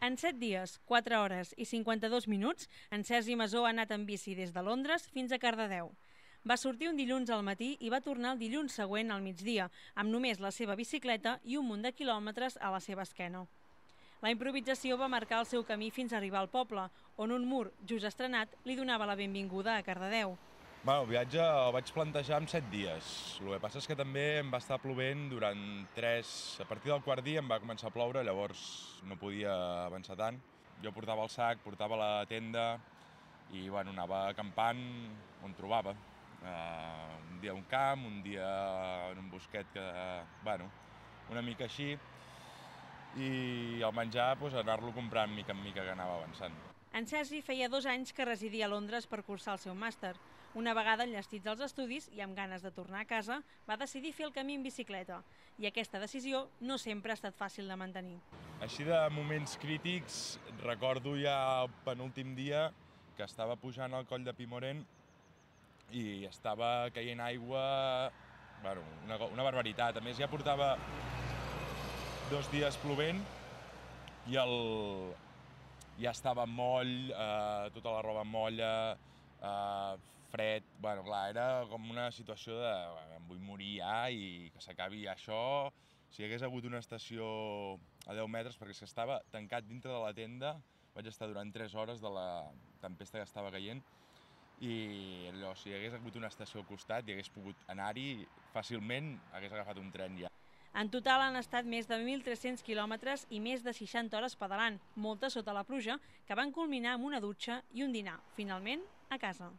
En 7 dies, 4 hores i 52 minuts, en Sergi Masó ha anat en bici des de Londres fins a Cardedeu. Va sortir un dilluns al matí i va tornar el dilluns següent al migdia, amb només la seva bicicleta i un munt de quilòmetres a la seva esquena. La improvisació va marcar el seu camí fins a arribar al poble, on un mur just estrenat li donava la benvinguda a Cardedeu. El viatge el vaig plantejar en 7 dies. El que passa és que també em va estar plovent durant 3... A partir del quart dia em va començar a ploure, llavors no podia avançar tant. Jo portava el sac, portava la tenda i anava acampant on trobava. Un dia a un camp, un dia en un bosquet una mica així. I el menjar, anar-lo comprant mica en mica que anava avançant. En Sergi feia 2 anys que residia a Londres per cursar el seu màster. Una vegada enllestits als estudis i amb ganes de tornar a casa, va decidir fer el camí en bicicleta. I aquesta decisió no sempre ha estat fàcil de mantenir. Així de moments crítics, recordo ja el penúltim dia que estava pujant al coll de Pimorent i estava caient aigua, una barbaritat. A més, ja portava 2 dies plovent i ja estava moll, tota la roba molla, fred, era com una situació de em vull morir ja i que s'acabi ja això. Si hi hagués hagut una estació a 10 metres, perquè és que estava tancat dintre de la tenda, vaig estar durant 3 hores de la tempesta que estava caient i allò, si hi hagués hagut una estació al costat i hagués pogut anar-hi fàcilment, hagués agafat un tren ja. En total han estat més de 1.300 quilòmetres i més de 60 hores pedalant, moltes sota la pluja, que van culminar amb una dutxa i un dinar, finalment a casa.